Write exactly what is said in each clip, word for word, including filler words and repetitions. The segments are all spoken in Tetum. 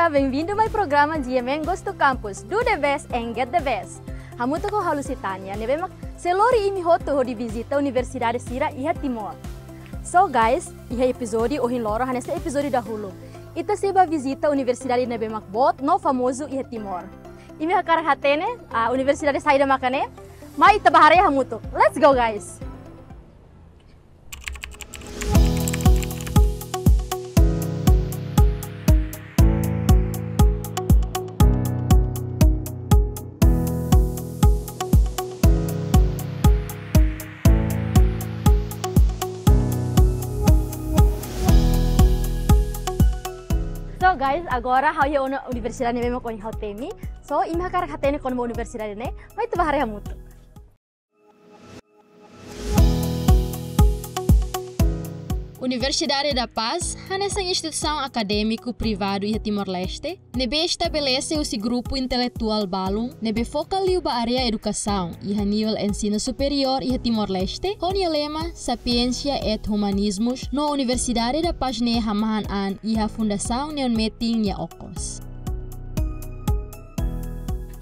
Bem-vindo mai programa G M N Gosto Campus, do the best and get the best. Hamutuk ho ha'u Lusitania, ne'ebé mak sei lori imi hotu hodi vizita universidade sira iha Timor. So guys, iha epizódiu ohin loron hanesan epizódiu dahuluk, ita sei bá vizita universidade ne'ebé mak boot no famozu iha Timor. Imi hakarak hatene, ah, universidade saida maka ne'e? Mai ita bá haree hamutuk. Let's go, guys! So guys, agora ha'u iha ona universidade ne'ebé mak ohin ha'u temi. So, imi hakarak hatene kona-ba universidade ne'e, mai ita bá haree hamutuk. Universidade da Paz hanesan instituisaun akadémiku privadu iha Timor-Leste, ne'ebé estabelese husi grupu intelektuál balun ne'ebé foka liu ba área edukasaun iha nivel ensinu superiór iha Timor-Leste, ho nia lema Sapientia et Humanismus, no Universidade da Paz ne'e hamahan an iha Fundasaun Neon Metin nia okos.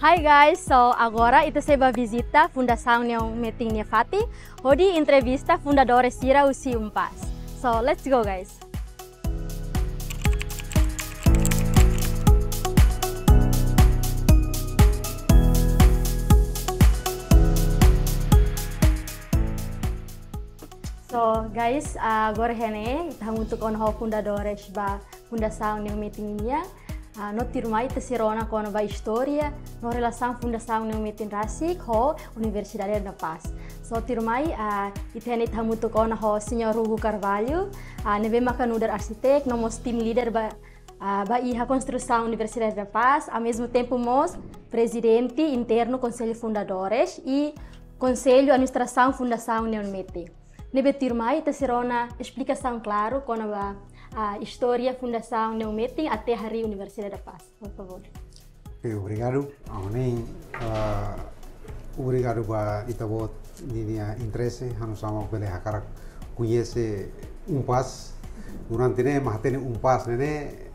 Hi guys, so agora ita sei bá vizita Fundasaun Neon Metin nia fatin, hodi entrevista fundadores sira husi UNPAZ. So let's go, guys. So guys, ah, agora ne'e ita hamutuk ona ho fundadores ba Fundasaun Neon Metin nian, ah, no tuirmai ita sei rona kona-ba istória no relasaun Fundasaun Neon Metin rasik ho Universidade da Paz. So tuirmai, ah, ita ne'e ita hamutuk ona ho Señór Hugo Carvalho, ah, ne'ebé maka nu'udar arsitek no mós team leader ba, ah, ba iha konstrusaun Universidade da Paz, ao mesmo tempo mós prezidente internu Konsellu Fundadores i Konsellu Administrasaun Fundasaun Neon Metin. Ne'ebé tuirmai ita sei rona esplikasaun klaru kona-ba, ah, istória Fundasaun Neon Metin até harii Universidade da Paz, por favór. Ok, obrigadu. Aonin, ah, obrigadu ba ita-boot ninia interese, ha'u hanesan bele hakarak koñese UNPAZ. Durante ne'e mak hatene UNPAZ ne'e, ne'e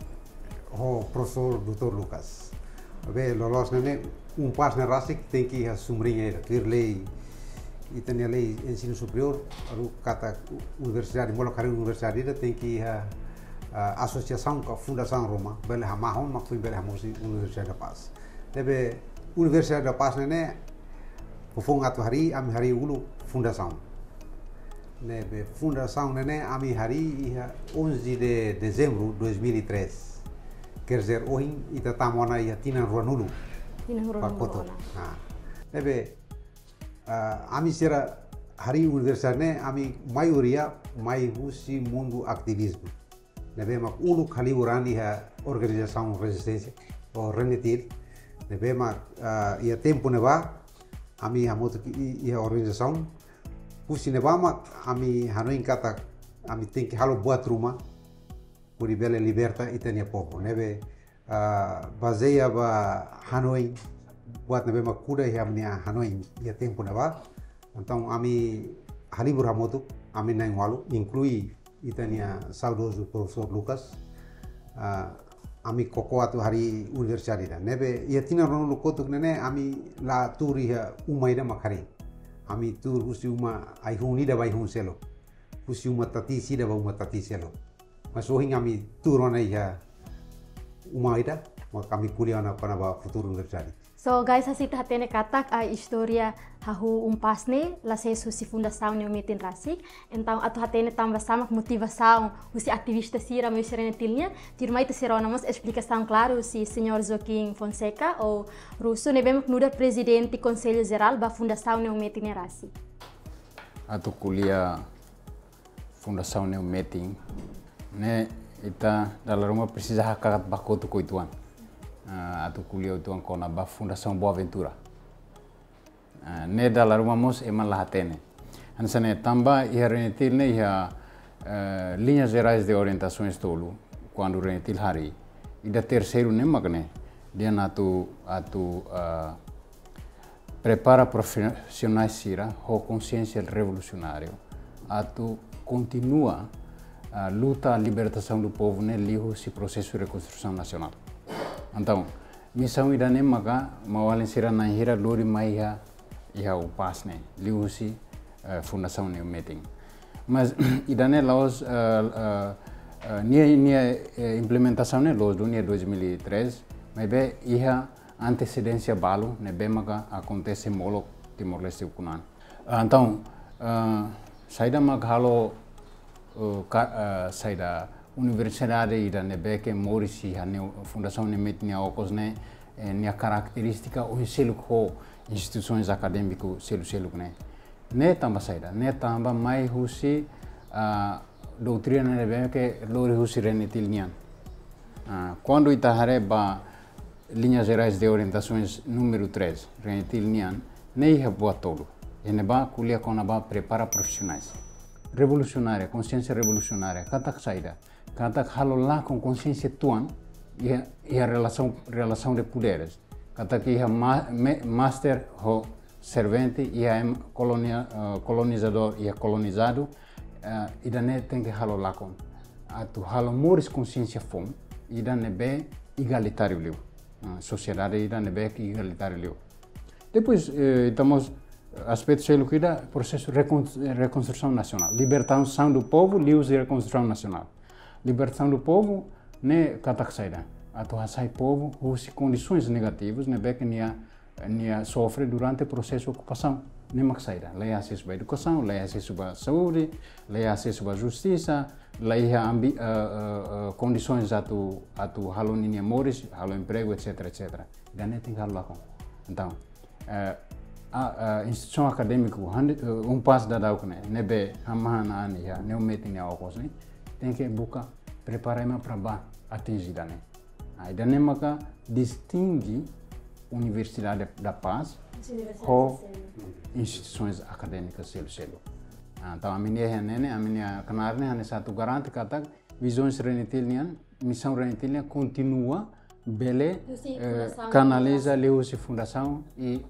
ho profesór doutór Lucas. Be, loloos ne'e, ne'e UNPAZ ne'e rasik tenke iha sumring ida, tuir lei, ita-nia lei ensinu superiór, haruka katak universidade, molok harii universidade ida tenke iha, ah, asosiasaun ka fundasaun ruma, bele hamahon mak foin bele hamosu Universidade da Paz. Ne'ebé Universidade da Paz ne'e, ne'e foufoun atu harii, ami harii uluk fundasaun. Ne'ebé fundasaun ne'e, ne'e ami harii iha onze de dezembro dois mil e três. Quer dizer, ohin ita tama ona iha tinan ruanulu. Tinan ruanulu ba kotuk ona. Nah. Ne'ebé, ah, ami sira harii universidade ne'e, ami maioria mai husi mundu ativizmu. Ne'ebé mak uluk halibur an iha organizasaun rezisténsia, ou RENETIL. Ne'ebé mak, ah, iha tempu ne'ebá, ami hamutuk i-, iha organizasaun. Husi ne'ebá mak ami hanoin katak ami tenke halo buat ruma, hodi bele liberta ita-nia povu. Ne'ebé, ah, bazeia ba hanoin, buat ne'ebé mak kuda iha ami-nia hanoin iha tempu ne'ebá. Entaun ami halibur hamutuk, ami na'in-ualu, inklui ita-nia saudozu profesór Lucas, ah, ami koko atu harii universidade ida. Ne'ebé iha tinan ruanulu kotuk ne'e, ne'e ami la tuur iha uma ida mak harii. Ami tuur husi uma ai-hun ida ba ai-hun seluk. Husi uma tati ida ba uma tati seluk. Mas ohin ami tuur ona iha uma ida, mak ami ko'alia ona kona-ba futuru universidade. So guys, hanesan ita hatene katak, ah, istória hahú UNPAZ ne'e la sees husi Fundasaun Neon Metin rasik. Entaun atu hatene tanba sá mak motivasaun husi ativista sira mai husi RENETIL nian, tuirmai ita sei rona mós esplikasaun klaru husi Señór Joaquim Fonseca ou Russo, ne'ebé mak nu'udar prezidente Konsellu Jerál ba Fundasaun Neon Metin ne'e rasik. Atu ko'alia Fundasaun Neon Metin ne'e, ita dala ruma presiza hakat ba kotuk uitoan. Ah, atu ko'alia uitoan kona-ba Fundasaun Boa Ventura. Ah, ne'e dala ruma mós ema la hatene. Hanesan ne'e tanba iha RENETIL ne'e iha, eh, linhas gerais de orientações tolu, kuandu RENETIL harii, ida terseiru ne'e mak ne'e, dehan atu, atu, ah, prepara profisionais sira ho konsiénsia revolusionáriu atu kontinua, ah, luta libertasaun do povu ne'e liuhusi prosesu rekonstrusaun nasionál. Entaun, misaun ida-ne'e maka maun-alin sira na'in hira lori mai iha, iha UNPAZ ne'e, liuhusi, eh, fundasaun ne'e metin. Mas ida-ne'e la'ós, eh, eh, eh, nia, nia, eh, implementasaun ne'e la'ós duni iha dois mil e três, maibé iha antesedénsia balu ne'ebé maka akontese molok Timor-Leste ukun an. Ah, entaun, ah, saida mak halo, eh, ka-, eh, saida universidade ida ne'ebé ke moris iha ne'e fundasaun ne'e metin nia okos ne'e, eh, nia karakterístika ohin seluk ho instituisoens akadémiku selu-seluk ne'e. Ne'e tanba saida, ne'e tanba mai husi, ah, doutrina ne'ebé ke lori husi RENETIL nian. Ah, kuandu ita haree ba Linhas Gerais de Orientações número três, RENETIL nian, ne'e iha buat tolu. Iha ne'ebá ko'alia kona-ba prepara profissionais. Revolucionária, consciência revolucionária, katak saida, katak halo lakon konsiénsia tuan, iha, iha relasaun, relasaun de poderes. Katak iha ma-, me-, master ho servente, iha ema kolonia-, eh, kolonizadór, iha kolonizadu, eh, ida-ne'e tenke halo lakon. Atu halo moris konsiénsia foun, ida ne'ebé igalitáriu liu. Ah, sosiedade ida ne'ebé ke igalitáriu liu. Depois, eh, temos aspetu seluk ida prosesu rekon-, rekonstrusaun nasionál. Libertasaun do povu, liuhusi rekonstrusaun nasionál. Libertasaun do povu, ne'e katak saida. Atu hasai povu, husi kondisoens negativas, ne'ebé ke nia, nia sofre durante prosesu okupasaun. Ne'e mak saida. La iha asesu ba edukasaun, la iha asesu ba saúde, la iha asesu ba justisa, la iha ambi-, eh, eh, eh, kondisoens atu, atu halo ninia moris, halo empregu, et cetera, et cetera. Ida-ne'e tenke halo lakon. Entaun, eh, a, eh, instituisaun akadémiku, han-, eh, UNPAZ daudauk ne'e, ne'ebé hamahan an iha, ne'e metin nia okos ne'e, tenke buka prepara ema para ba atinje ida-ne'e. Ah, ida-ne'e maka distinge Universidade da Paz ho instituisoens akadémikas selu-seluk. Ah, entaun, ami-nia iha ne'e ne'e, ami-nia knaar ne'e, hanesan atu garante katak vizaun RENETIL nian, misaun RENETIL nian kontinua bele, husi, eh, fundasaun kanaliza liuhusi fundasaun i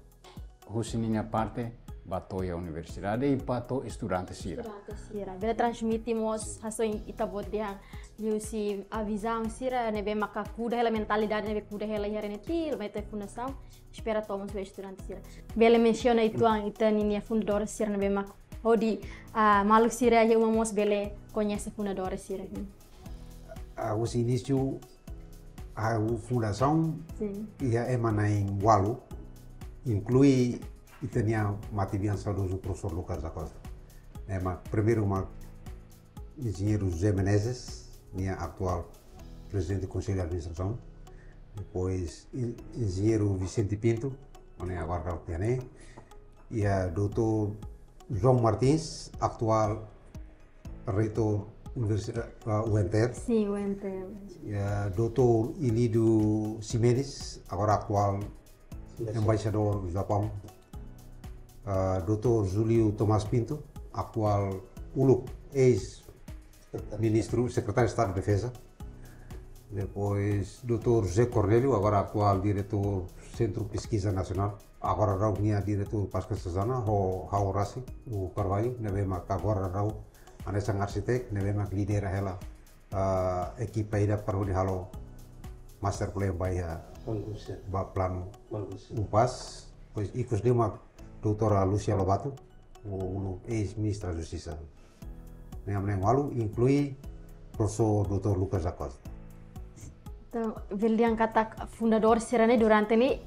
husi ninia parte ba to'o iha universidade i ba to'o estudante sira. Estudante sira. Bele transmite mós hasoin ita-boot dehan liuhusi vizaun sira ne'ebé maka kuda hela mentalidade ne'ebé kuda hela iha RENETIL, mai to'o fundasaun, espera to'o mós ba estudante sira. Bele mensiona uitoan ita ninia fundadór sira ne'ebé mak hodi, ah, maluk sira iha uma mós bele koñese fundadór sira. Ah, husi inísiu, ah, fundasaun, sin, iha ema na'in ualu, inklui ita-nia matebian saudozu Profesór Lucas da Costa. Ema primeiru mak Enjeñeiru José Menezes, nia atuál Prezidente Konsellu Administrasaun. Depois, en-, Enjeñeiru Vicente Pinto, mak ne'e agora daudauk iha ne'e. Iha doutór João Martins, atuál Reitór Universidade, ah, UNTL. Sin, UNTL. Iha doutór Ilídio Ximenes, agora atuál Embaixadór Japaun. Ah, doutór Júlio Tomás Pinto, atuál uluk, eis-ministru, Sekretáriu Estadu Defeza. Depois, doutór José Cornélio, agora atuál diretór Sentru Peskiza Nasionál. Agora daudauk nia diretór Pasca Sazana, ho ha'u rasik, Hugo Carvalho, ne'ebé mak agora daudauk hanesan arsitek, ne'ebé mak lidera hela, ah, ekipa ida para hodi halo master plan ba iha, bankuse, ba planu, bankuse, UNPAZ. Depois, ikus de'it mak doutora Lúcia Lobato, uluk eis-ministra Justisa. Ne'e mak na'in ualu, inklui Profesór doutór Lucas da Costa. Entaun, bele dehan katak fundadór sira-ne'e durante ne'e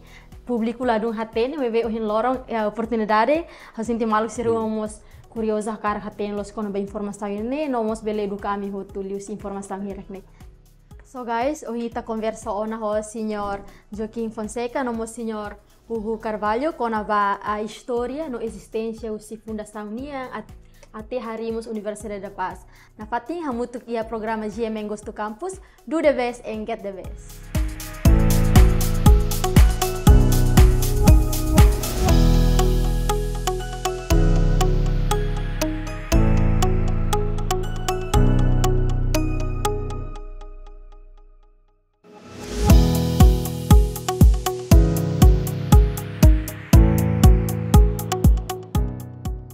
públiku ladún hatene, maibé ohin loron, eh, oportunidade, ha'u sente maluk sira, hmm, mós kuriozu hakarak hatene loos kona-ba informasaun ne'e, no mós bele eduka ami hotu liuhusi informasaun hirak ne'e. So guys, ohin ita konversa ona ho Señór Joaquim Fonseca, no mós Señór Hugo Carvalho, kona-ba, ah, istória no ezisténsia husi fundasaun nian at-, até harii mós Universidade da Paz. Nafatin hamutuk iha programa G M N Goes to Campus, do the best and get the best.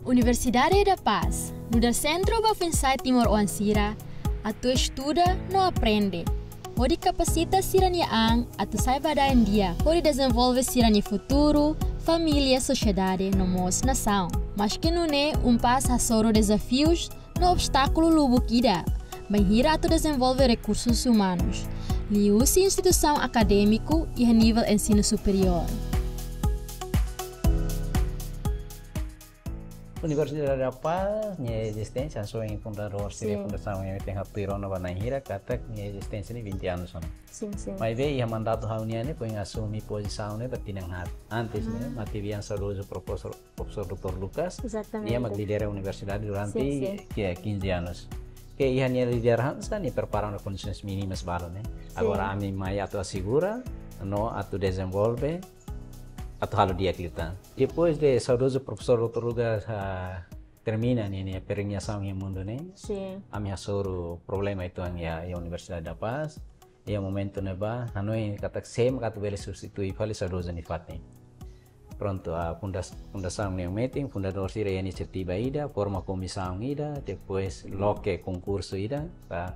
Universidade da Paz, nu'udar sentru ba foin-sa'e timoroan sira atu estuda no aprende. hodi kapasita sira-nia an atu sai ba da'an di'ak, hodi dezenvolve sira-nia futuru, família, sosiedade no mós nasaun. Maske nune'e, UNPAZ hasoru dezafius no obstákulu lubuk ida bainhira atu dezenvolve rekursus umanus, liuhusi instituisaun akadémiku iha nivel ensinu superiór. Universidade da Paz nia ezisténsia, hanesan fundadór sira, sin, fundasaun nia tenke hatuir ona ba na'in hira, katak nia ezisténsia ne'e vinte anos ona. Sin, sin. Maibé iha mandatu ha'u-nian ne'e foin asume pozisaun ne'e ba tinan haat. Antes ne'e, ah, matebian saudozu profesór, profesór doutór Lucas, exatamente, nia mak lidera universidade durante, sin, sin, ke quinze anos. Ke iha nia lideransa, nia prepara ona kondisoens mínimas balu ne'e. Sin. Agora ami mai atu asegura no atu dezenvolve, atu halo di'ak liután. Depois de saudozu profesór doutór Lucas, ah, termina nia, nia peregrinasaun iha mundu ne'e, sin, ami hasoru problema uitoan iha, iha Universidade da Paz. Iha momentu ne'ebá, hanoin katak sé mak atu bele substitui fali saudozu nia fatin. Prontu, ah, fundas-, fundasaun ne'e metin, fundadór sira iha inisiativa ida, forma komisaun ida, depois loke konkursu ida, ba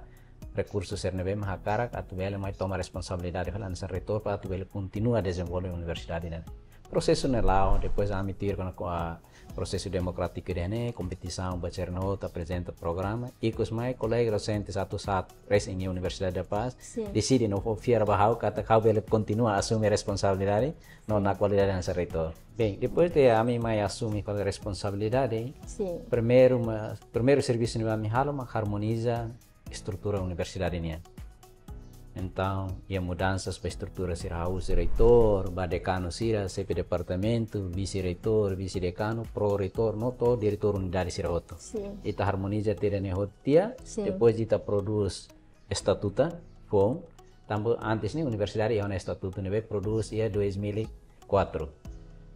rekursu sira ne'ebé mak hakarak atu bele mai toma responsabilidade fali hanesan reitór para atu bele kontinua dezenvolve universidade ne'e. Prosesu ne'e la'o, depois ami tuir kona-ba prosesu demokrátiku ida-ne'e, kompetisaun ba sira hotu aprezenta programa, ikus mai kolega dosente atu sa'e resin iha Universidade da Paz, sin, deside no fó fiar ba ha'u katak ha'u bele kontinua asume responsabilidade no, sin, na kualidade hanesan reitór. Bem, depois de ami mai asume fali responsabilidade, sin, primeiru ma-, primeiru servisu ne'ebé ami halo mak harmoniza estrutura universidade nian. Entaun, iha mudansas ba estrutura sira, hahú husi reitór, ba dekanu sira, xefe departamentu, vise-reitór, vise-dekanu, pro-reitór, no to'o diretór unidade sira hotu. Sin. Ita harmoniza tiha ida-ne'e hotu tiha, sin, depois ita prodús estatutu foun, tanba antes ne'e universidade iha ona estatutu ne'ebé prodús iha dois mil e quatro.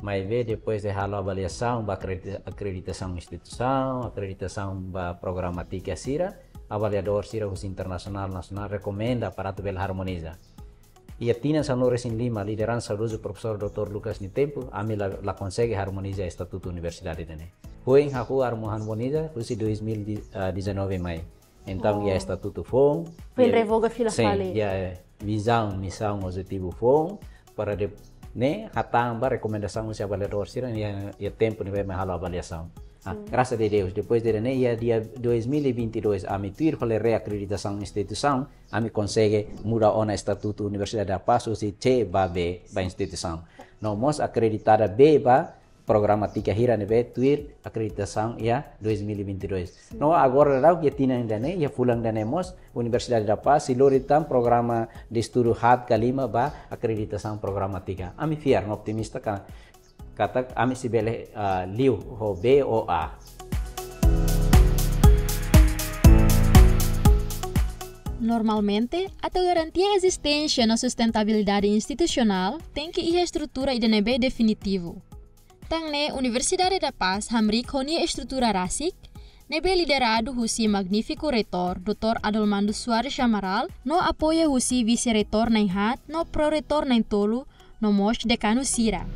Maibé depois de halo avaliasaun ba akredita-, akreditasaun instituisaun, akreditasaun ba programátika sira, avaliadór sira husi internasionál, nasionál rekomenda para atu bele harmoniza. Iha tinan sanulu-resin-lima, lideransa saudozu profesór doutór Lucas nia tempu, ami la, la konsege harmoniza estatutu universidade ida-ne'e. Foin hahú harmo-, harmoniza husi dois mil e dezanove mai. Entaun, iha, oh, estatutu foun, foin, iha, revoga fila, sin, fali, iha vizaun, misaun, objetivu foun, para de, ne'e, hatán ba rekomendasaun husi avaliadór sira, iha, iha tempu ne'ebé mak halo avaliasaun. Ah, sin, grasas a Deus, depois de ne'e, iha dia dois mil e vinte e dois, ami tuir fali reakreditasaun instituisaun, ami konsege muda ona estatutu Universidade da Paz, husi C ba B, ba instituisaun. No mós akreditada B ba programátika hira ne'ebé tuir akreditasaun iha dois mil e vinte e dois. Sin. No agora daudaun iha tinan ida-ne'e, iha fulan ida-ne'e mós, Universidade da Paz sei lori tan programa de estudu haat ka lima ba akreditasaun programátika. Ami fiar no optimista ka-, katak ami sei bele, ah, liu ho B ou A. Normalmente, atu garantia ezisténsia no sustentabilidade institusionál, tenke iha estrutura ida ne'ebé definitivu. Tan ne'e Universidade da Paz hamriik ho nia estrutura rasik, ne'ebé lideradu husi magnífiku reitór, doutór Adolmando Soares Amaral, no apoiu husi vise-reitór na'in haat, no pro-reitór na'in tolu, no mós dekanu sira.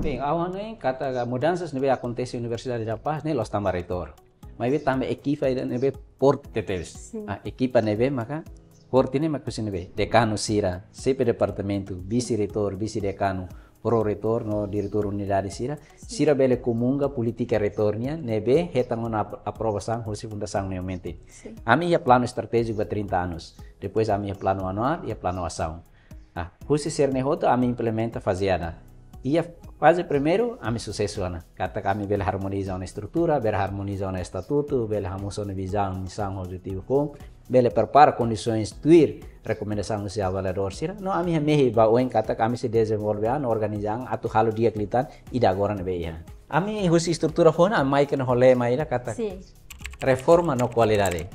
Bem, ha'u hanoin katak mudansas ne'ebé akontese Universidade da Paz ne'e la'ós tanba reitór. Maibé tanba ekipa ida ne'ebé forte tebes. Sin. Ah, ekipa ne'ebé maka forte ne'e mak husi ne'ebé. Dekanu sira, xefe departamentu, vise-reitór, vise-dekanu, pro-reitór, no diretór unidade sira. Sin. Sira bele komunga polítika reitór nian, ne'ebé hetan ona ap-, aprovasaun husi fundasaun ne'e metin. Sin. Ami iha planu estratéjiku ba trinta anos. Depois ami iha planu anuál, iha planu asaun. Ah, husi sira-ne'e hotu ami implementa faze ida. Iha faze primeiru, ami susesu ona. Katak ami bele harmoniza ona estrutura, bele harmoniza ona estatutu, bele hamosu ona vizaun, misaun, objetivu foun, bele prepara kondisoens tuir rekomendasaun husi avaliadór sira. No ami hamehi ba oin katak ami sei dezenvolve an, organiza an, atu halo di'ak liután, ida agora ne'ebé iha. Ami husi estrutura foun, ami mai kona ho lema ida katak, sin, reforma no kualidade.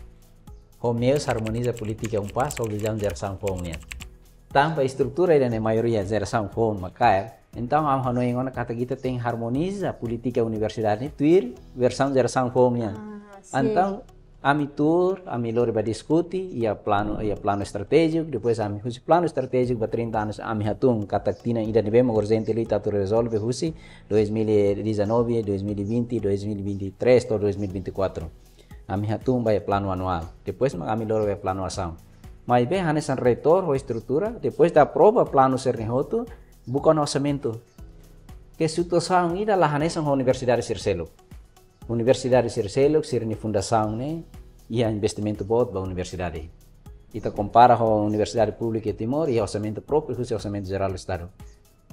Ho meius harmoniza polítika UNPAZ ho vizaun jerasaun foun nian. Tanba estrutura ida-ne'e maioria jerasaun foun mak kaer, entaun ha'u hanoin ona katak ita tenke harmoniza polítika universidade ne'e tuir versaun jerasaun foun nian. Ah, sin. Entaun, ami tuur, ami lori ba diskute, iha planu, iha planu estratéjiku, depois ami husi planu estratéjiku ba trinta anos, ami hatún katak tinan ida ne'ebé mak urjente liu atu rezolve husi dois mil e dezanove, dois mil e vinte, dois mil e vinte e três to'o dois mil e vinte e quatro. Ami hatún ba iha planu anuál. Depois mak ami lori ba iha planu asaun. Maibé hanesan reitór ho estrutura, depois de aprova planu sira-ne'e hotu, buka ona orsamentu. Ke situasaun ida la hanesan ho universidade sira seluk. Universidade sira seluk, sira-nia fundasaun ne'e iha investimentu boot ba universidade. Ita kompara ho universidade públika iha Timor, iha orsamentu própriu husi Orsamentu Jerál Estadu.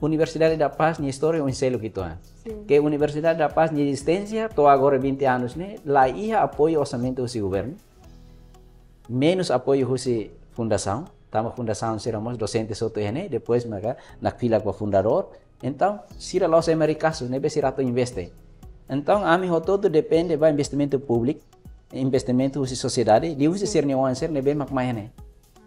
Universidade da Paz nia istória oin seluk uitoan. Sin. Ke Universidade da Paz nia ezisténsia to'o agora vinte anos ne'e, la iha apoiu orsamentu husi governu. Menus apoiu husi fundasaun, tanba fundasaun sira mós dosente hotu iha ne'e, depois maka nakfilak ba fundadór. Entaun, sira la'ós ema rikasu, ne'ebé sira atu investe. Entaun, ami hotu-hotu depende ba investimentu públiku, investimentu husi sosiedade, liuhusi sira-nia oan sira ne'ebé mak mai iha ne'e.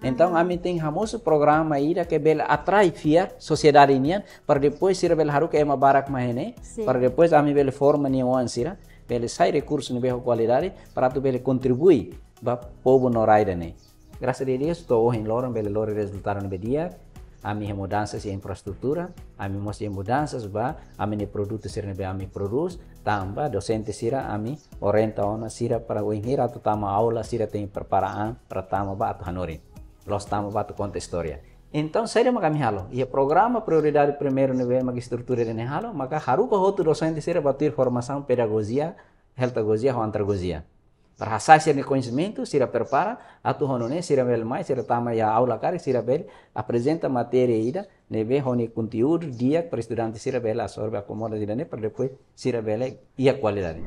Entaun, ami tenke hamosu programa ida ke bele atrai fiar sosiedade nian, para depois sira bele haruka ema barak mai iha ne'e, sin, para depois ami bele forma nia oan sira, bele sai rekursu ne'ebé ho kualidade, para atu bele kontribui ba povu no rai ida-ne'e. Grasas a Deus, to'o ohin loron bele lori rezultadu ne'ebé di'ak, ami iha mudansa iha infraestrutura, ami mós iha mudansa ba ami-nia produtu sira ne'ebé ami prodús, tanba dosente sira ami orienta ona sira para wainhira atu tama aula, sira tenke prepara an para tama ba atu hanorin. La'ós tama ba atu konta istória. Entaun, saida mak ami halo? Iha programa prioridade primeiru ne'ebé mak estrutura ida-ne'e halo, maka haruka hotu dosente sira ba tuir formasaun pedagojia, healthagojia ho andragojia. Para hasa'e sira-nia koñesimentu, sira prepara, atu ho nune'e, sira bele mai, sira tama iha aula karik, sira bele aprezenta matéria ida, ne'ebé ho nia konteúdu di'ak para estudante sira bele absorve, akomoda ida-ne'e, para depois sira bele iha kualidade.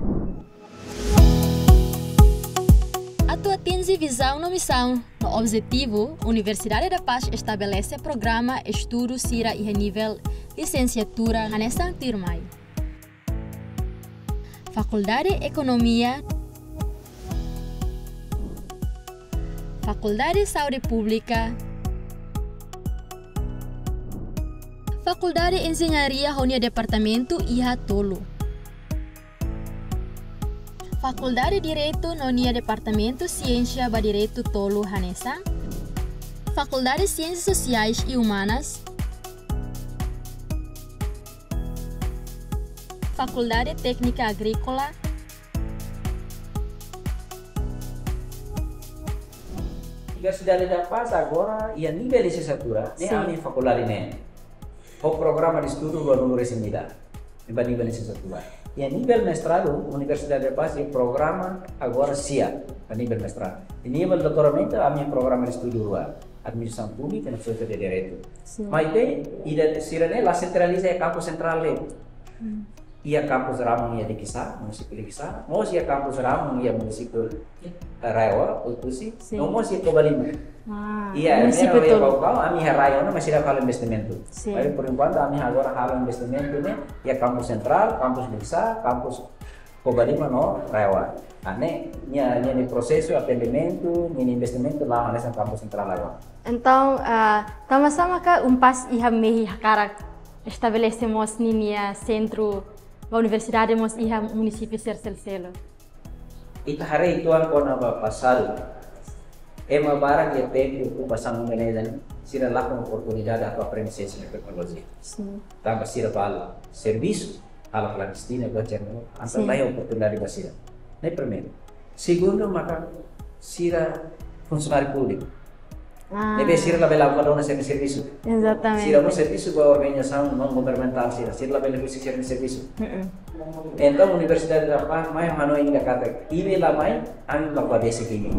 Atu atinje vizaun no misaun no objetivu, Universidade da Paz estabelese programa estudu sira iha nivel lisensiatura hanesan tuirmai: Fakuldade Ekonomia, Fakuldade Saúde Públika, Fakuldade Enjeñaria ho nia departamentu iha tolu, Fakuldade Direitu no nia departamentu siénsia ba direitu tolu hanesan, Fakuldade Siénsias Sosiais i Umanas, Fakuldade Téknika Agríkola. Universidade da Paz agora iha nivel lisensiatura, ne'e, sin, ami fakuldade ne'e ho programa de estudu rua-nulu-resin-ida, ne'e ba nivel lisensiatura. Iha nivel mestradu, Universidade da Paz iha programa agora sia, ba nivel mestradu. Iha nivel doutoramentu, ami programa de estudu rua, Administrasaun Públika no Filozofia de Direitu. Sin. Maibé, ida sira-ne'e la sentraliza iha kampus sentrál de'it. Hmm. Iha kampus Ramang iha Likisá, munisípiu Likisá, mós iha kampus Ramang iha munisípiu, eh, RAEOA, Oe-Kusi, sin, no mós iha Covalima. Ah, iha munisípiu Ermera, iha tolu. Baucau, ami iha RAI ona, mas sira halo investimentu. Sin. Maibé, por enkuantu, ami agora halo investimentu ne'e iha kampus sentrál, kampus Likisá, kampus Covalima no RAEOA. Ah, ne'e, nia, nia, nia prosesu atendimentu, nia, nia investimentu la'o hanesan kampus sentrál agora. Entaun, ah, tanba sá maka UNPAZ iha mehi hakarak estabelese mós ninia sentru ba universidade mós iha munisípiu sira seluk-seluk? Ita haree uitoan kona-ba pasadu. Ema barak iha tempu okupasaun Indonézia ne'e, sira lakon oportunidade atu aprende siénsia no teknolojia. Sin. Tanba sira bá halo servisu, halo klandestina, buat sira-ne'e, entaun, sin, la iha oportunidade ba sira. Ne'e primeiru. Segundu, maka sira funsionáriu públiku. Ah. Ne'ebé sira labele atu dona sira-nia servisu. Ezatamente. Sira mós servisu ba organizasaun naun governamentál sira, sira labele husik sira-nia servisu. Mm-mm. Entaun, Universidade da Paz mai hanoin ida katak, imi la mai, ami mak bá besik imi.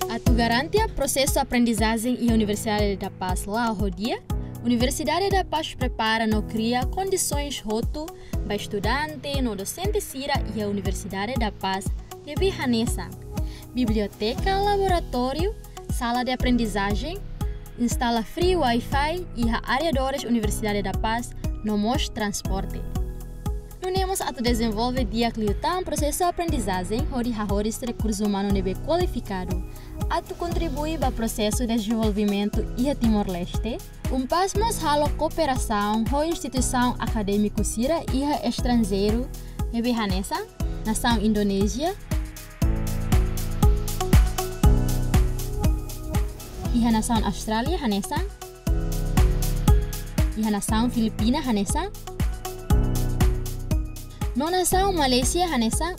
Atu garante prosesu aprendizajen iha Universidade da Paz la'o ho di'ak, Universidade da Paz prepara no kria kondisoens hotu ba estudante no dosente sira iha Universidade da Paz, ne'ebé hanesan biblioteka, laboratóriu, sala de aprendizajen, instala free Wi-Fi iha arredores Universidade da Paz, no mós transporte. Nune'e mós atu dezenvolve di'ak liután prosesu aprendizajen hodi hahoris rekursu umanu ne'ebé kualifikadu atu kontribui ba prosesu dezenvolvimentu iha Timor-Leste. UNPAZ mós halo kooperasaun ho instituisaun akadémiku sira iha estranjeiru, ne'ebé hanesan nasaun Indonézia, iha nasaun Austrália hanesan, iha nasaun Filipina hanesan, no nasaun Malázia hanesan.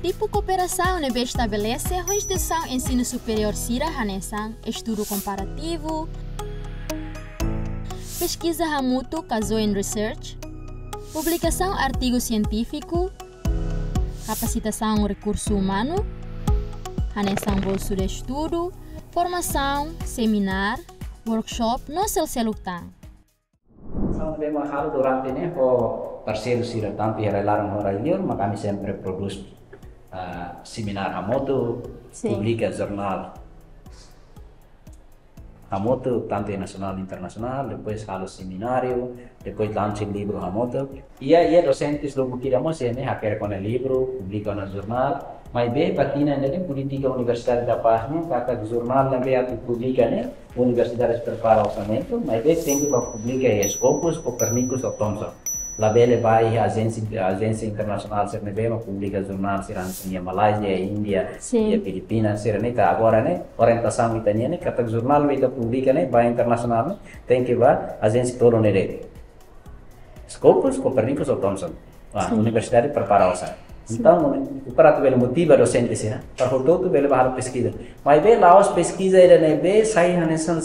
Tipu kooperasaun ne'ebé estabelese ho instituisaun ensinu superiór sira hanesan estudu komparativu, peskiza hamutuk ka joint research, publikasaun artigu sientífiku, kapasitasaun rekursu umanu, hanesan bolsu de estudu, formasaun, seminár, workshop no seluk-seluk tan. São de uma halo durante ne'e ho parseiru sira tantu iha rai-laran ho rai-liur, mak ami sempre prodús, ah, seminár hamutuk, Sin. publika jornál hamutuk, tantu nasionál, internasionál, depois halo semináriu, depois lansa livru hamutuk. Iha, iha dosentes lubuk ida mós ne'e hakerek ona livru, publika ona jornál, maibé ba tinan ida-ne'e polítika Universidade da Paz ne'e, katak jornál ne'ebé atu publika ne'e, universidade prepara orsamentu, maibé tenke ba publika iha Scopus, Copernicus ou Thomson. Labele ba iha ajénsia, ajénsia internasionál sira ne'ebé mak publika jornál sira hanesan iha Malázia, Índia, Sin. iha Filipinas, sira-ne'e ka agora ne'e, orientasaun ita-nian ne'e, katak jornál ne'ebé ita publika ne'e, ba internasionál ne'e, tenke ba ajénsia tolu ne'e de'it. Scopus, Copernicus ou Thomson. Ah, Sin. universidade prepara osan. Sin. Entaun, para atu bele motiva dosente sira, para hotu-hotu bele ba halo peskiza. Maibé la'ós peskiza ida ne'ebé sai hanesan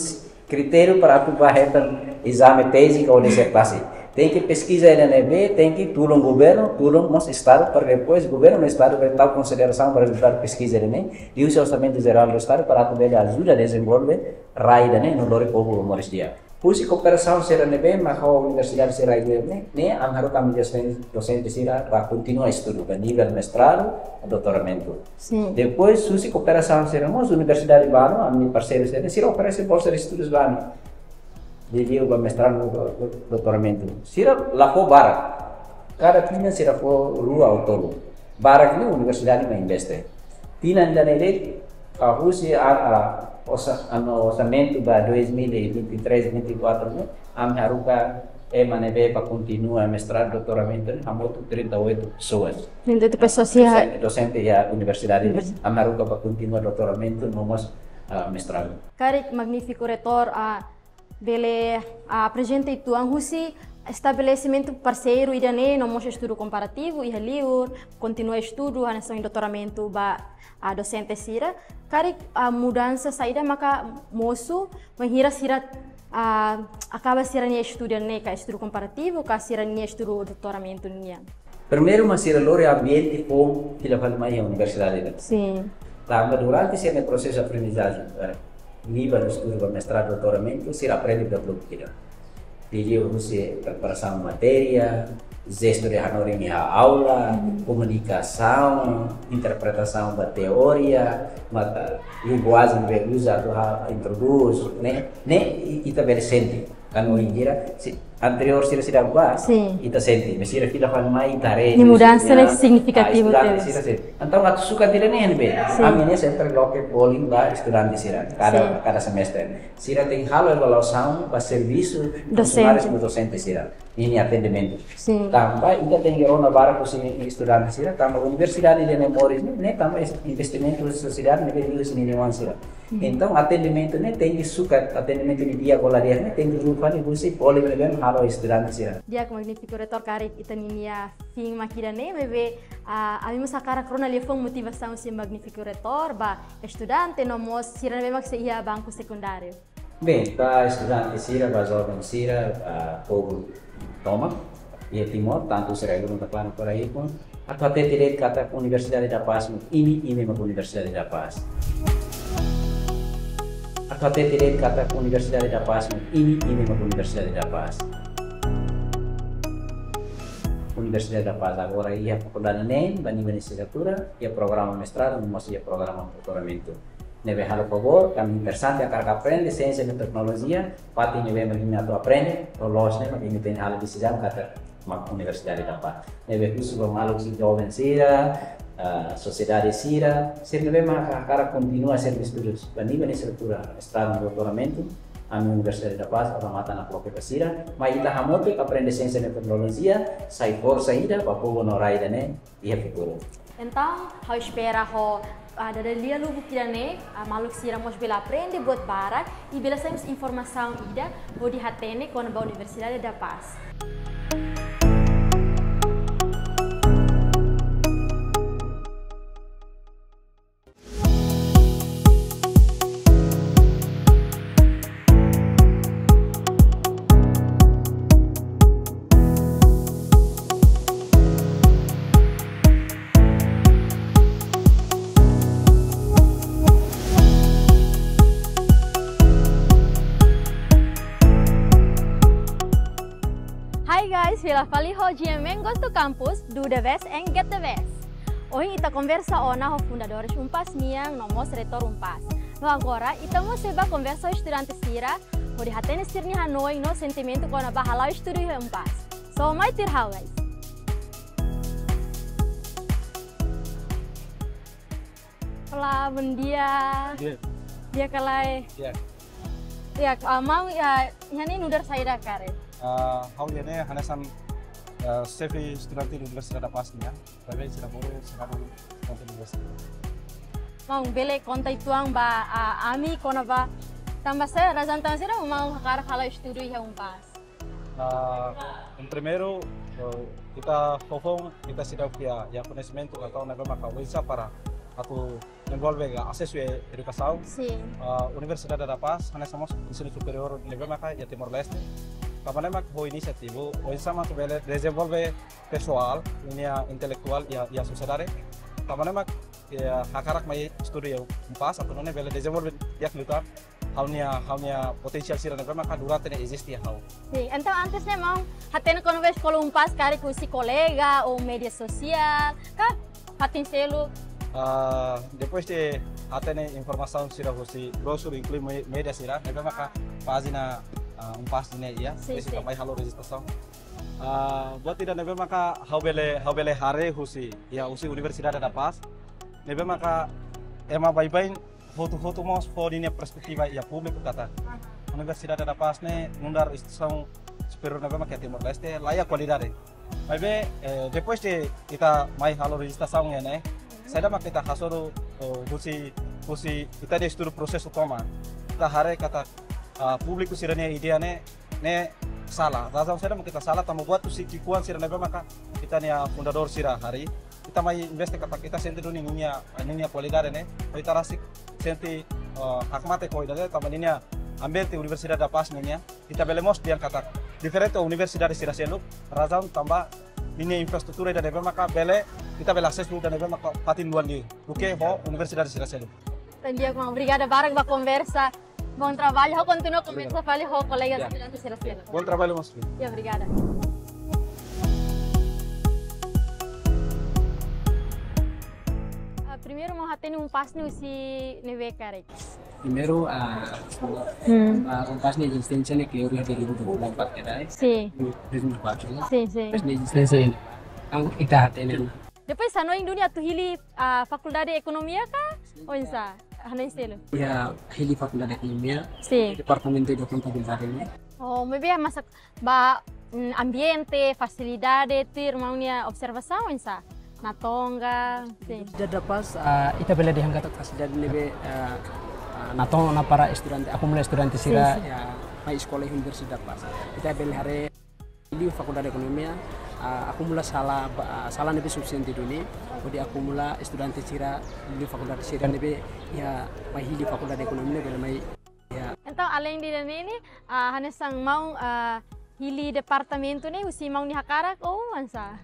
kritériu para atu ba hetan ezame teze ka disertasaun. Tenke peskiza ida ne'ebé, tenke tulun governu, tulun mós Estadu, para depois governu no Estadu bele tau konsiderasaun ba rezultadu peskiza ida-ne'e, liuhusi Orsamentu Jerál do Estadu para atu bele ajuda dezenvolve rai ida-ne'e no lori povu ba moris di'ak. Husi kooperasaun sira ne'ebé mak ho universidade sira ne'e, ne'e ami haruka ami dosente, dosente sira ba kontinua estudu, ba nivel mestradu, doutoramentu. Sin. Depois, husi kooperasaun sira mós universidade balu, ami parseiru sira, sira oferese bolsa de estudus balu. Liuliu ba mestradu, do-, do-, doutoramentu. Sira la fó barak. Kada tinan sira fó rua ou tolu. Barak ne'e universidade mak investe. Tinan ida-ne'e de'it, ah, husi a, a, orsa-, ano orsamentu ba dois mil e vinte e três, vinte e quatro ne'e, ami haruka ema ne'ebé ba kontinua mestradu, doutoramentu ne'e, hamutuk trinta e oito pessoas. Trinta e oito pessoas, ya. Dosente, dosente iha universidade ne'e, Universi- ami haruka ba kontinua doutoramentu, no mós, ah, mestradu. Karik magnífiku reitór, ah, bele, ah, aprezenta uitoan husi estabelesimentu parseiru ida-ne'e, no mós estudu komparativu iha liur, kontinua estudu, hanesan doutoramentu ba, ah, dosente sira. Karik, ah, mudansa saida maka mosu, bainhira sira, ah, akaba sira-nia estudu ne'e ka estudu komparativu, ka sira-nia estudu doutoramentu nian. Primeiru, mak sira lori ambiente foun fila fali mai iha universidade ne'e. Sin. Tanba durante sira-nia prosesu aprendizajen, eh, liuhusi estudu ba mestradu, doutoramentu, sira aprende ba grupu kita. Liuhusi preparasaun matéria, jestu de hanorin iha aula, Hmm. komunikasaun, interpretasaun ba teoria, mata linguajen ne'ebé uza atu ha-, introdús, ne'e, ne'e i-, ita bele sente. Kan ohin sira, si, anteriór sira seidauk bá, Sin. ita sente, mas sira fila fali mai ita haree, Nia mudansa ne'e ah, signifikativu estudante tebes. sira sente. Entaun, atu sukat ida-ne'e ne'ebé, Sin. ami ne'e sempre loke polling ba estudante sira, kada, Sin. kada semestre. Sira tenke halo avaliasaun ba servisu Dosente. funsionáriu no dosente sira, ninia atendimentu. Sin. Tanba, ita tenke rona barak husi estudante sira, tanba universidade ida-ne'e moris ne'e, ne'e tanba es-, investimentu sosiedade ne'ebé liuhusi ninia oan sira. Hmm. Entaun, atendimentu ne'e tenke sukat, atendimentu ne'e di'ak ka la di'ak ne'e tenke rua fali husi polling ne'ebé halo estudante sira. Di'ak, magnífiku reitór, karik ita-nia fin mak ida-ne'e, maibé, ah, ami mós hakarak rona liafuan motivasaun husi magnífiku reitór ba estudante no mós sira ne'ebé mak sei iha banku sekundáriu. Bem, ba estudante sira, ba joven sira, ah, povu tomak iha Timor, tantu sira ulun ka klaran fora ikun, atu hatete de'it katak Universidade da Paz mak imi, imi mak Universidade da Paz. Atu hatete de'it katak Universidade da Paz mak imi, imi mak Universidade da Paz. Universidade da Paz agora iha fakuldade neen, ba nivel lisensiatura, iha programa mestradu, no mós iha programa doutoramentu. Ne'ebé halo favór, karik interesante hakarak aprende siénsia no teknolojia, fatin ne'ebé mak imi atu aprende, loloos ne'e mak imi tenke halo desizaun katak mak Universidade da Paz. Ne'ebé husu ba maluk sira, joven sira, ah, sosiedade sira, sira ne'ebé mak hakarak kontinua sira-nia estudu ba nivel lisensiatura, mestradu, doutoramentu, ami Universidade da Paz, abre matan no loke ba sira, mai ita hamutuk aprende siénsia no teknolojia, sai forsa ida ba povu no rai ida-ne'e iha futuru. Entaun, ha'u espera ho, ah, dada lia lubuk ida-ne'e, ah, maluk sira mós bele aprende buat barak, i bele sai mós informasaun ida, hodi hatene kona-ba Universidade da Paz. Fila fali ho G M N Goes to Campus, do the best and get the best. Ohin ita konversa ona ho fundadores UNPAZ nian no mós reitór UNPAZ. No agora, ita mós sei bá konversa ho estudante sira, hodi hatene sira-nia hanoin no sentimentu kona-ba hala'o estudu iha UNPAZ. So, mai tuir ha'u, guys. Olá, bom dia. Di'ak. Di'ak ka lae? Di'ak. Ya, ah, maun, ya, iha ne'e nu'udar saida karik? Ah, ha'u iha ne'e hanesan, ah, xefe estudante Universidade da Paz nian. Maibé sira bolu, sira bolu konta universidade. Maun, bele konta uitoan ba, ah, ami kona-ba tanba saida, razaun tanba saida maun hakarak hala'o estudu iha UNPAZ? Ah, em primeiru, eh, ita foufoun, ita seidauk iha, iha koñesimentu ka tau ne'ebé maka oinsá para atu dezenvolve ka asesu edukasaun. Sin. Ah, Universidade da Paz, hanesan mós ensinu superiór ne'ebé maka iha Timor-Leste. Tanba ne'e mak ho inisiativa, oinsá mak bele dezenvolve pesoál, ninia intelektuál iha, iha sosiedade. Tanba ne'e mak, ya, hakarak mai estudu iha UNPAZ, atu nune'e bele dezenvolve di'ak liután ha'u-nia, ha'u-nia potensiál sira ne'ebé maka durante ne'e eziste iha ha'u. Sin, entaun antes ne'e maun hatene kona-ba eskola UNPAZ karik husi kolega ou média sosiál, ka fatin seluk? Ah, depois de hatene informasaun sira husi brosur inklui me-, média sira, ne'ebé maka pájina, ah, UNPAZ nian iha, sin, depois ita, sin, mai halo rejistrasaun. Ah, buat ida ne'ebé maka ha'u bele, ha'u bele haree husi, ya, husi Universidade da Paz. Ne'ebé maka ema baibain hotu-hotu mós fó ninia perspetiva iha públiku katak Universidade da Paz ne'e nu'udar instituisaun superiór ne'ebé maka iha Timor-Leste, la iha kualidade. Maibé, eh, depois de ita mai halo rejistrasaun iha ne'e, saida mak ita hasoru, eh, husi, husi ita-nia estudu prosesu tomak. Ita haree katak, ah, públiku sira-nia ideia ne'e, ne'e sala. Razaun saida mak ita sala, tanba buat husi ki'ikoan sira ne'ebé maka ita-nia fundadór sira harii. Ita mai investe katak ita sente duni ninia, ninia kualidade ne'e. Ita rasik sente, eh, hakmatek ho ida-ne'e, tanba ninia ambiente Universidade da Paz nian. Ita bele mós dehan katak diferente universidade sira seluk, razaun tanba ninia infraestrutura ida ne'ebé maka bele, ita bele asesu ida ne'ebé maka fatin luan liu duké ho universidade sira seluk. Entaun di'ak, maun, obrigada barak ba konversa. Bom trabalho, ha'u kontinua konversa fali ho kolega, ya, estudante sira seluk. Bom trabalho, maun. Ya, obrigada. Ah, primeiru maun hatene UNPAZ ne'e husi ne'ebé karik? Primeiru, ah, hmm, ah, UNPAZ nia ezisténsia ne'e ke ori dari dua ribu empat ka lae? Sin. Dua ribu empat, ya. Sin, sin. UNPAZ nia ezisténsia ne'e, entaun ita hatene. Depois hanoin duni atu hili, ah, Fakuldade Ekonomia ka? Sin. Oinsá? Hanoin seluk. Ya, hili Fakuldade Ekonomia. Sin. Departamentu de Kontabilidade ne'e. Oh, maibé masak ba, mm, ambiente, fasilidade, tuir maun nia observasaun oinsá? Natoon ka, sin. Universidade da Paz, ah, ita bele dehan katak fasilidade ne'ebé, ah, ah, natoon ona para estudante, akumula estudante sira, sin, sin, ya, mai eskola iha Universidade da Paz. Ita bele haree liu Fakuldade Ekonomia, ah, akumula sala ba, ah, sala ne'ebé sufisiente duni, hodi akumula estudante sira liu fakuldade sira ne'ebé, ya, mai hili Fakuldade Ekonomia ne'e bele mai. Ya. Entaun, além de ne'e, ah, hanesan maun, ah, hili departamentu ne'e husi maun nia hakarak ou oinsá?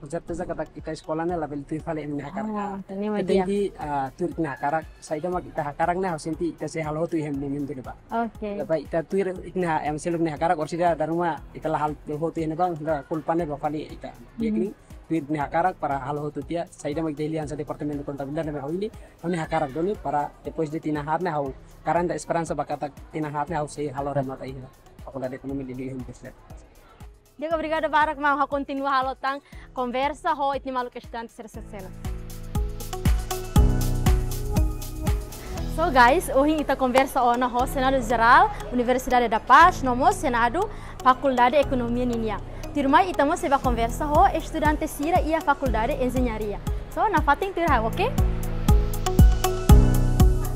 Com certeza katak ita eskola ne'e labele tuir fali ema nia hakarak. Oh, entaun ne'e mak di'ak. Ita tenke, ah, tuir ita-nia hakarak, saida mak ita hakarak ne'e ha'u sente ita sei halo hotu iha momentu ne'ebá. Oke. Tanba ita tuir ita-nia, ema seluk nia hakarak, orsida dala ruma ita la halo hotu iha ne'ebá, la kulpa ne'e ba fali ita. Hmm. Yakni tuir ita-nia hakarak para halo hotu tiha, saida mak ita hili hanesan Departamentu Kontabilidade ne'ebé ha'u hili, ha'u-nia hakarak duni para depois de tinan haat ne'e ha'u garante esperansa ba katak tinan haat ne'e ha'u sei halo remata iha Fakuldade Ekonomia de Universidade. Di'ak, obrigada barak maun, ha'u kontinua halo tan konversa ho ita-nia maluk estudante sira seluk. So guys, ohin ita konversa ona ho Senadu Jerál Universidade da Paz, no mós Senadu Fakuldade Ekonomia ninian. Tuirmai ita mós sei bá konversa ho estudante sira iha Fakuldade Enjeñaria. So, nafatin tuir ha'u, oke?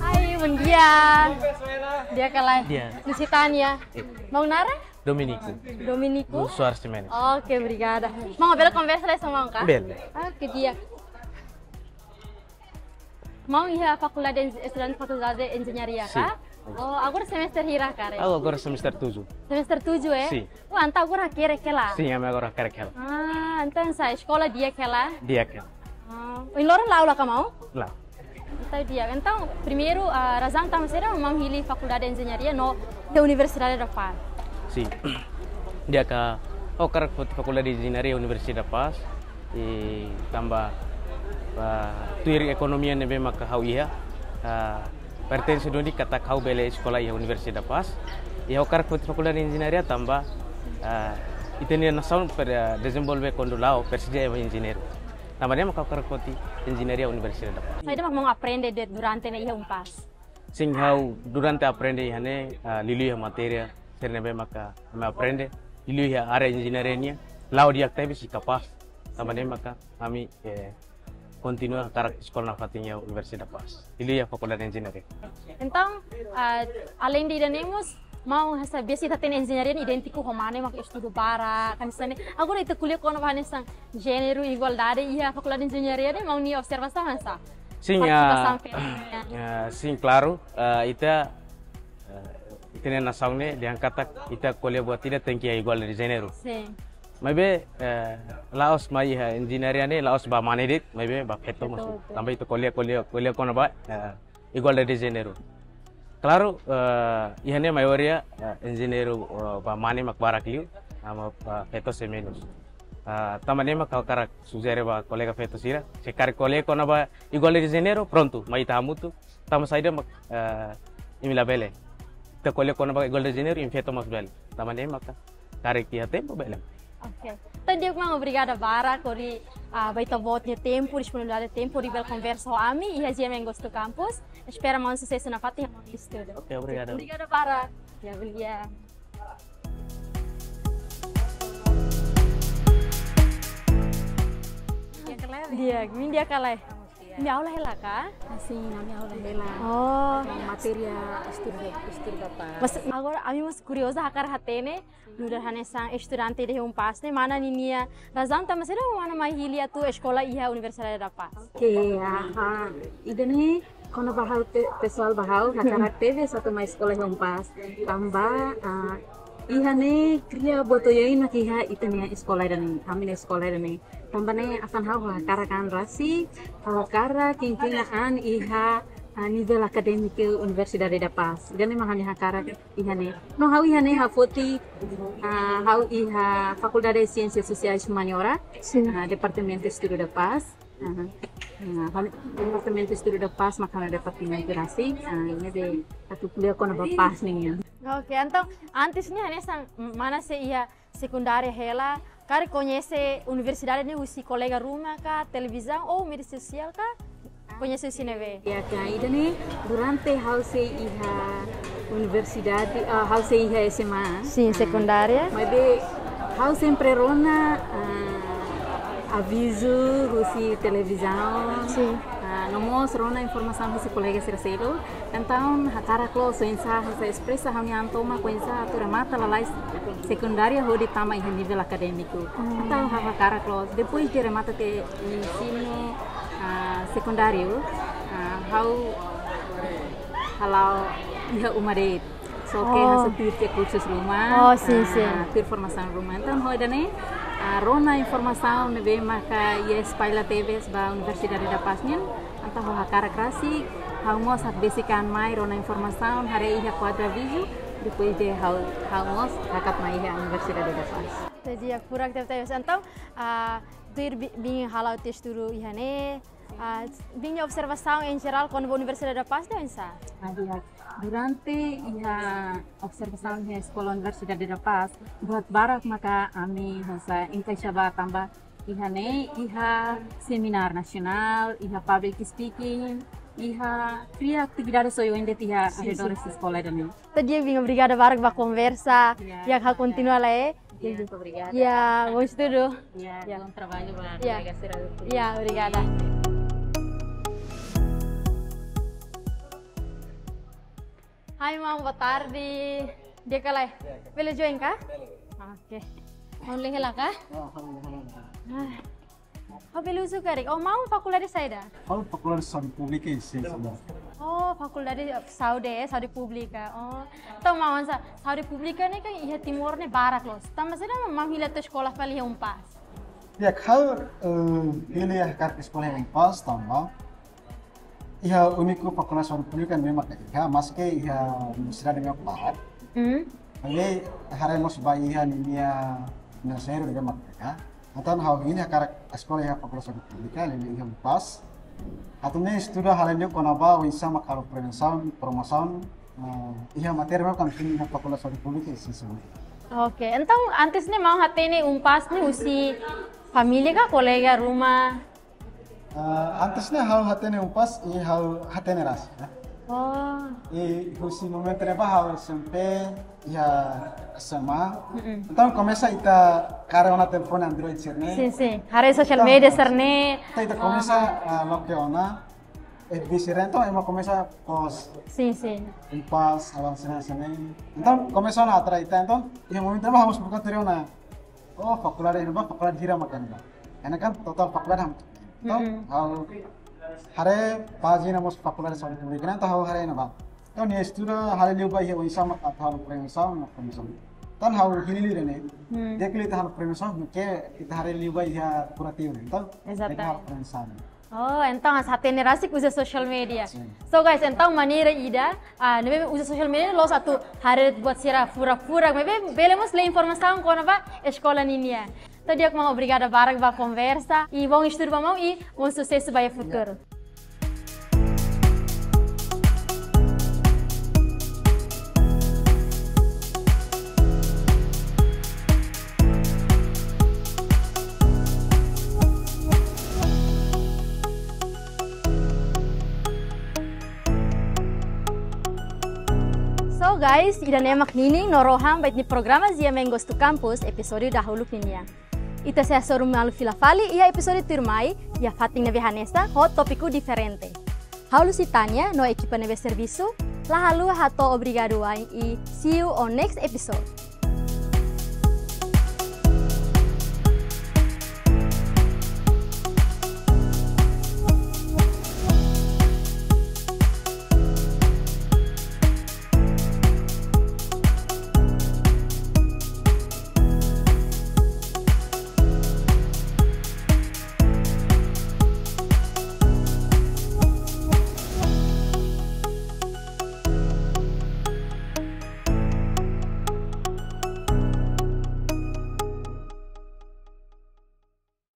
Hai, bom dia. Di'ak ka lae? Di'ak. Lusitania. Eh. Maun naran? Dominico. Dominico? Soares Ximenes. Oke, obrigada. Maun, bele konversa lai hanesan maun ka? Bele. Oke, di'ak. Maun iha fakuldade, estudante Fakuldade Enjeñaria ka? Sin. Oh, agora semester hira karik? Ha'u agora semester tujuh. Semester tujuh, eh? Sin. Oh, entaun agora hakerek hela? Sin, ami agora hakerek hela. Ah, entaun sá, eskola di'ak hela? Di'ak hela. Ah, ohin loron la aula ka maun? La. Entaun di'ak. Entaun, primeiru, ah, razaun tanba saida maun hili Fakuldade Enjeñaria no iha Universidade da Paz? Sin. Di'ak ka, Ha'u hakarak foti Fakuldade Enjeñaria Universidade da Paz, i tanba, ah, tuir ekonomia ne'ebé maka ha'u iha, ah, pertense duni katak ha'u bele eskola iha Universidade da Paz. I ha'u hakarak foti Fakuldade Enjeñaria tanba, ah, ita-nia nasaun per, ah, dezenvolve kuandu la'o presiza ema enjeñeiru. Tanba ne'e maka ha'u hakarak foti Enjeñaria Universidade da Paz. Saida mak maun aprende durante ne'e iha UNPAZ? Sin, ha'u durante aprende iha ne'e, ah, liuliu iha matéria sira ne'ebé maka ami aprende, liuliu iha área enjeñaria nian, la'o di'ak tebes i kapás. Tanba ne'e maka ami, eh, kontinua hakarak eskola nafatin iha Universidade da Paz, liuliu iha Fakuldade Enjeñaria. Entaun, ah, aleinde ida-ne'e mós, maun hanesan biasa ita hatene enjeñaria ne'e idéntiku ho mane mak estudu barak, hanesan ne'e. Agora ita ko'alia kona-ba hanesan jéneru, igualdade iha Fakuldade Enjeñaria ne'e, maun nia observasaun hanesan? Sin, partisipasaun ah, femina. Ah, sin, klaru, ah, ita, ah, ita-nia nasaun ne'e dehan katak ita ko'alia buat ida tenke iha igualdade de jéneru. Sin. Maibé, eh, la'ós mai iha enjeñaria ne'e, la'ós ba mane de'it, maibé ba feto mós. Betul, betul. Tanba ita ko'alia, ko'alia, ko'alia kona-ba, eh, igualdade de jéneru. Klaru, eh, iha ne'e maioria, eh, enjeñeiru, eh, ba mane mak barak liu, ah, ba feto sei menus. Ah, tanba ne'e mak ha'u hakarak sujere ba kolega feto sira, se karik ko'alia kona-ba igualdade de jéneru, prontu, mai ita hamutuk, tanba saida mak, eh, imi labele. Ita ko'alia kona-ba igualdade de jéneru, imi feto mós bele. Tanba ne'e maka karik iha tempu bele. Oke. Entaun di'ak maun, obrigada barak hodi, ah, ba ita-boot nia tempu, disponibilidade tempu, hodi bele konversa ho ami iha GMN Gosto Campus. Espera maun susesu nafatin iha maun nia estudu. Oke, obrigada. Obrigada barak. Ya, obrigada. Di'ak ka lae? Di'ak, maun di'ak ka lae? Maun aula hela ka? Ah, sin, ami aula hela. Oh. Matéria estudu, estudu da paz. Mas agora, ami mós kurioza hakarak hatene, nu'udar hanesan estudante de UNPAZ ne'e, mana ninia razaun tanba saida mana mai hili atu eskola iha Universidade da Paz? Oke, aha. Ida-ne'e kona-ba ha'u pe-, pesoál ba ha'u, hakarak tebes atu mai eskola iha UNPAZ. Tanba, ah, iha ne'e kria buat oioin mak iha ita-nia eskola ida-ne'e, ami-nia eskola ida-ne'e. Tanba ne'e hanesan ha'u hakarak an rasik, ha'u hakarak kingkina an iha, ah, nivel akadémiku Universidade da Paz. Ida-ne'e mak ha'u-nia hakarak iha ne'e. No ha'u iha ne'e ha'u foti, ah, ha'u iha Fakuldade Siénsias Sosiais Humaniora, sin, ah, Departamentu Estudu da Paz. Aha. Ah, ha'u-nia Departamentu Estudu da Paz mak ha'u-nia departamentu rasik, ah, ne'ebé atu ko'alia kona-ba paz nian. Oke, entaun antes ne'e hanesan mana sei iha sekundária hela, karik koñese universidade ne'e husi kolega ruma ka, televizaun ou média sosiál ka? Koñese husi ne'ebé? Ya, ka, ida-ne'e durante ha'u sei iha universidade, ah, ha'u sei iha SMA. Sin, ah, sekundária. Maibé ha'u sempre rona, ah, avizu husi televizaun. Sin. Ah, no mós rona informasaun husi kolega sira seluk. Entaun, hakarak loos oinsá, hanesan espresa ha'u-nia an tomak oinsá atu remata lalais sekundária hodi tama iha nivel akadémiku. Hmm. Entaun, ha'u hakarak loos. Depois de remata tiha ensinu, ah, sekundáriu, ah, ha'u hala'o iha uma de'it. Só ke, oh, hanesan tuir tiha kursus ruma, oh, sin, ah, sin, tuir formasaun ruma. Entaun, ho ida-ne'e, ah, rona informasaun ne'ebé maka iha espalla tebes ba Universidade da Paz nian. Entaun ha'u hakarak rasik, ha'u mós hakbesik an mai rona informasaun, haree iha kuadru avizu, depois de ha'u, ha'u mós hakat mai iha Universidade da Paz. Jadi, ya, furak tebetebes. Entaun, ah, tuir bi-, biin hala'o tiha estudu iha ne'e, ah, biin observasaun em geral kona-ba Universidade da Paz ne'e oinsá? Ah, di'ak. Durante iha observasaun iha Eskola Universidade da Paz, buat barak maka ami hanesan enkaixa ba tanba iha ne'e, iha seminár nasionál, iha public speaking, iha kria atividade oioin de'it iha, sin, sin, arredores eskola ida-ne'e. Entaun di'ak, biin, obrigada barak ba konversa. Ya, ya, ha'u kontinua lai. Ya, obrigada. Ya, bom estudu. Ya, ya, bom trabalho ba, ya, kolega sira. Ya, obrigada. Hai, maun, boa tarde. Di'ak ka lae? Bele join ka? Bele. Oke. Maun hela ka? Ah, ha'u hela. Ah. Ha'u bele husu karik. Oh, maun fakuldade saida? Ha'u Fakuldade Saúde Públika e Siénsia Médika. Oh, Fakuldade Saúde, eh, Saúde Públika. Oh. Entaun, maun, sa-, Saúde Públika ne'e kan iha Timor ne'e barak loos. Tanba saida maun hili atu eskola fali iha UNPAZ? Ya, ha'u, eh, hili hakarak eskola iha UNPAZ tanba iha úniku Fakuldade Saúde Públika ne'ebé maka iha, maske iha universidade ne'ebé barak. Hmm. Maibé haree mós ba iha ninia Financeiro de Merdeka. Entaun ha'u hili hakarak eskola iha Fakuldade Saúde Públika, hili iha UNPAZ. Atu ne'e estuda hale'u liu kona-ba oinsá mak halo prevensaun, promosaun, eh, iha matéria ne'ebé mak ami iha Fakuldade Saúde Públika, iha ensinu médiu. Oke, entaun antes ne'e maun hatene UNPAZ ne'e husi família ka kolega ruma? Ah, antes ne'e ha'u hatene UNPAZ i ha'u hatene rasik, ya. Oh. I husi momentu ne'ebá ha'u S M P, iha S M A. Mm-mm. Entaun komesa ita kaer ona telefone Android sira-ne'e. Sin, sin. Haree social media sira-ne'e. Entaun ita komesa, ah, loke ona F B sira-ne'e, entaun ema komesa post. Sin, sin. UNPAZ, avanse na sini. Entaun komesa ona atrai ita, entaun iha momentu ne'ebá ha'u mós buka tuir ona. Oh, fakuldade ne'ebá, fakuldade hira mak ne'ebá. Karena kan total fakuldade hamutuk. Entaun, mm-mm, ha'u haree pájina mós Fakuldade Saúde Públika, entaun ha'u haree ne'ebá. Entaun nia estuda hale'u liu ba iha oinsá mak atu halo prevensaun, no prevensaun. Entaun ha'u hili liu ida-ne'e. Hmm. Di'ak liu ita halo prevensaun, maibé ita haree liu ba iha kurativu ne'e. Entaun, ezatamente, ita halo prevensaun. Oh, entaun ita hatene rasik uza social media. Sin. So guys, entaun maneira ida, ah, ne'ebé uza social media la'ós atu haree buat sira furak-furak, maibé bele mós lee informasaun kona-ba eskola ninian. Entaun di'ak maun, obrigada barak ba konversa, i bom estudu ba maun, i bom susesu ba iha futuru. So guys, ida-ne'e mak ninin no rohan ba ita-nia programa G M N Goes to Campus, episódiu dahuluk ninian. Ita sei hasoru malu fila fali iha episódiu tuirmai, iha fatin ne'ebé hanesan, ho tópiku diferente. Ha'u Lusitania no ekipa ne'ebé servisu, la haluha hato'o obrigadu wa'in i see you on next episode.